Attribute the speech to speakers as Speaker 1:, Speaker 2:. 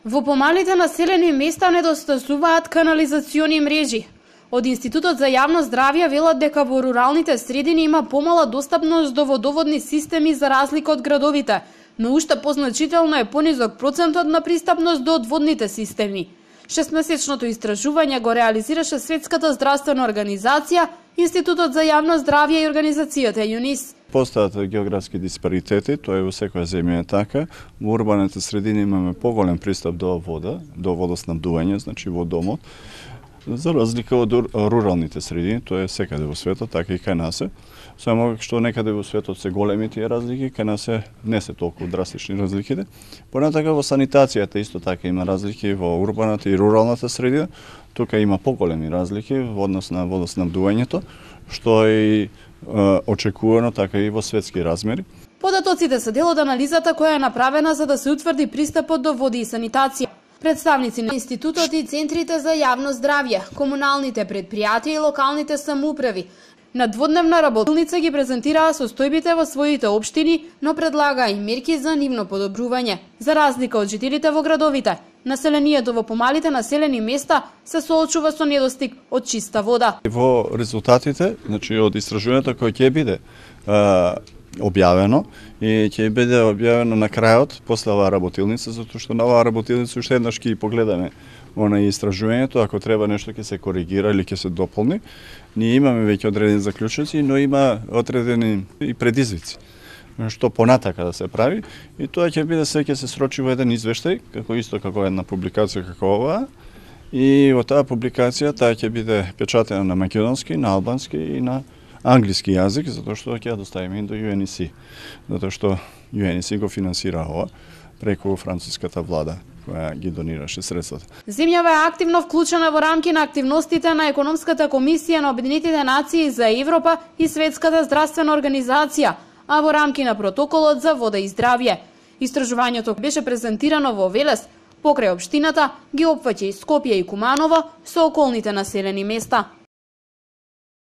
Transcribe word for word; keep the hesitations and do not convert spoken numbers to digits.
Speaker 1: Во помалите населени места недостасуваат канализациони мрежи. Од Институтот за јавно здравје велат дека во руралните средини има помала достапност до водоводни системи за разлика од градовите, но уште позначително е понизок процентот на пристапност до одводните системи. Шестмесечното истражување го реализираше Светската здравствена организација, Институтот за јавно здравје и организацијата ЮНИС.
Speaker 2: Постојат географски диспаритети, тоа е во секоја земја е така. Во урбаните средини имаме поголем пристап до вода, до водоснабдување, значи во домот. За разлика од руралните средини, тоа е секаде во светот, така и кај нас е. Само што некаде во светот се големи тие разлики, кај нас е не се толку драстични разликите. Понатака во санитацијата исто така има разлики во урбаната и руралната средина. Тука има поголеми разлики во однос на водоснабдувањето, што е и очекувано така и во светски размери.
Speaker 1: Податоците се дел од анализата која е направена за да се утврди пристапот до води и санитација. Представници на Институтот и центрите за јавно здравје, комуналните предпријатија и локалните самоуправи на дводневна работилница ги презентираа состојбите во своите општини, но предлагаа и мерки за нивно подобрување. За разлика од жителите во градовите, населението во помалите населени места се соочува со недостиг од чиста вода.
Speaker 2: Во резултатите, значи од истражувањето кој ќе биде а, објавено и ќе биде објавено на крајот после оваа работилница, затоа што на оваа работилница уште еднаш ќе погледаме она истражувањето, ако треба нешто ќе се коригира или ќе се дополни. Ние имаме веќе одредени заклучоци, но има одредени и предизвици што понатака да се прави, и тоа ќе биде се ќе се срочи во еден извештај, како исто како една публикација како оваа, и во таа публикација таа ќе биде печатена на македонски, на албански и на англиски јазик, затоа што ќе ја доставиме до Ю Ен И Си, затоа што Ю Ен И Си го финансира ова преку француската влада која ги донираше средствата.
Speaker 1: Земјава е активно вклучена во рамки на активностите на Економската комисија на Обединетите нации за Европа и Светската здравствена организација, а во рамки на протоколот за вода и здравје. Истражувањето беше презентирано во Велес, покрај општината ги опфаќа и Скопје и Куманово со околните населени места.